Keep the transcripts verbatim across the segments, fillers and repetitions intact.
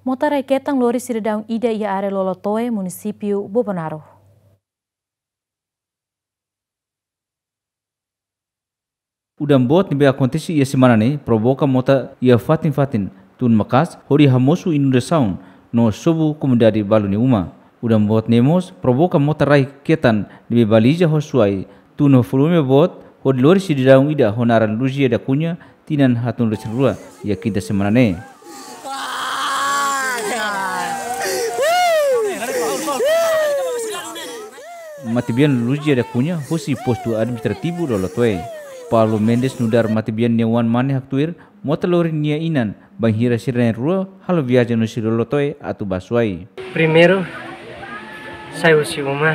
Mota rai ketan lori sidadaun ida iha área Lolotoe, munisípiu Bobonaro. Udan boot ne'ebé akontese iha semana ne'e provoka mota iha fatin-fatin, tun maka'as hodi hamosu inundasaun no sobu komunidade balu nia uma. Udan boot ne'e mós provoka mota rai ketan ne'ebé baliza ho suai, tun ho volume boot, hodi lori sidadaun ida ho naran Luzia da Cunha, tinan haatnulu-resin-rua, iha kinta semana ne'e. Matebian Luzia da Cunha, husi postu administrativu Lolotoe. Paulo Mendes nu'udar matebian nia oan mane haktuir, mota lori nia inan, bainhira sira na'in-rua halo viajen husi Lolotoe atu bá Suai. Primeiru, sai husi uma,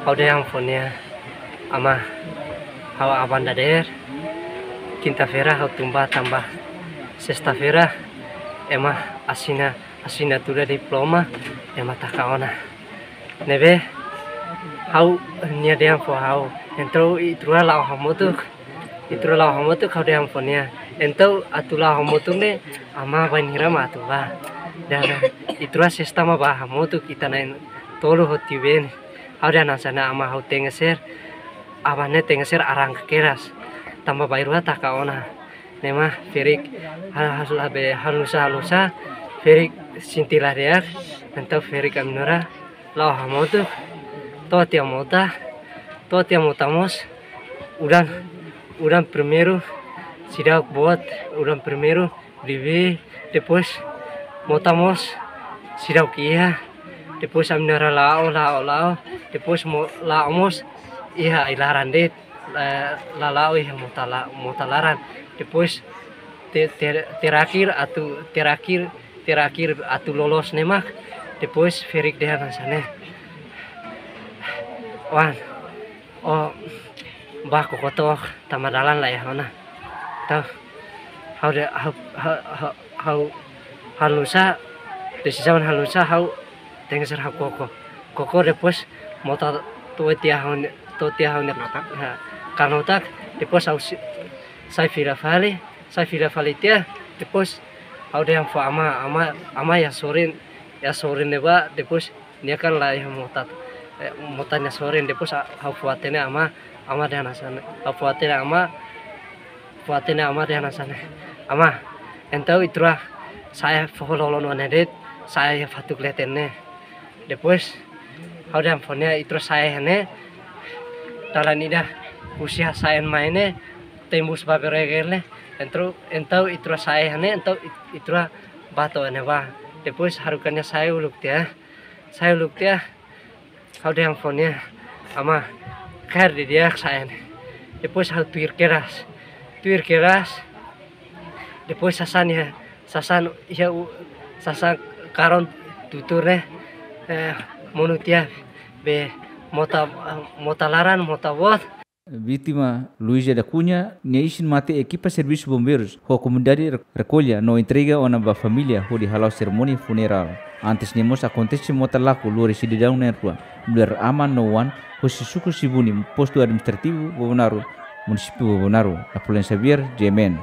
ha'u dehan fó nia, amá, ha'u aban dadeer, kinta-feira ha'u tun bá tanba sesta-feira ema asina, asinatura diploma, ema taka ona. Ne'ebé ha'u, nia dehan fó ha'u, entaun ita rua la'o hamutuk, ita rua la'o hamutuk, ha'u dehan fó nia. Entaun atu la'o hamutuk ne'e, amá bainhira mak atu bá. Dehan ita rua sesta mak bá hamutuk, ita na'in-tolu ho tiu-been. Ha'u dehan hanesan ne'e, amá, ha'u tenkeser, aban ne'e tenkeser arranka kedas. Tanba bainrua taka ona. Ne'e mak ferik, hal, hal, hal be, halo nu'usá, halo nu'usá, ferik sente la di'ak, entaun ferik ami na'in-rua la'o hamutuk, to'o tiha mota, to'o tiha mota mós, udan, udan primeiru seidauk boot, udan primeiru bibi, depois mota mós seidauk iha, depois ami na'in-rua la'o, la'o, la'o, depois mo-, la'o mós iha ai-laran de'it, la, la la'o iha mota la-, mota laran, depois te-, te-, terakhir atu, terakhir, terakhir atu loloos ne'e mak, depois ferik dehan hanesan ne'e. Oan, ó bá koko took, tanba dalan la iha ona. Entaun, ha'u dehan, ha'u, ha'u, ha'u, ha'u halo nu'usá, desizaun halo nu'usá, ha'u tenkeser ha'u koko. Koko depois mota to'o tiha ha'u-nia, to'o tiha ha'u-nia, ha, kanotak, depois ha'u si-, sai fila fali, sai fila fali tiha, depois ha'u dehan fó amá, amá, amá iha sorin, iha sorin ne'ebá, depois nia kan la iha mota, eh, mota nia sorin, depois a-, ha'u fó hatene amá, amá dehan hanesan ne'e, ha'u fó hatene amá, fó hatene amá dehan hanesan ne'e. Amá, entaun ita rua sa'e foho lolon ona de'it, sa'e iha fatuk leten ne'e. Depois, ha'u dehan fó nia ita rua sa'e iha ne'e, dalan ida husi hasa'en mai ne'e, tembus ba Bereger ne'e, entaun, entaun ita rua sa'e iha ne'e, entaun it-, ita rua bá to'o ne'ebá. Depois haruka nia sa'e uluk tiha, sa'e uluk tiha, ha'u dehan fó nia, amá, kaer didi'ak sa'e ne'e. Depois ha'u tuir kedas, tuir kedas, depois sasán iha, sasán iha u-, sasán karón tutur ne'e, eh, monu tiha be mota, mota laran, mota boot. Vítima Luizia da Cunha nia isin-mate ekipa servisu bombeirus ho komunidade re-, rekolla no entrega ona ba família hodi hala'o serimónia funerál. Antes ne'e mós akontese mota lakon lori sidadaun na'in-rua, mulher aman no oan, husi suku Sibuni, postu administrativu Bobonaro, munisípiu Bobonaro. Napoleon Xavier, G M N.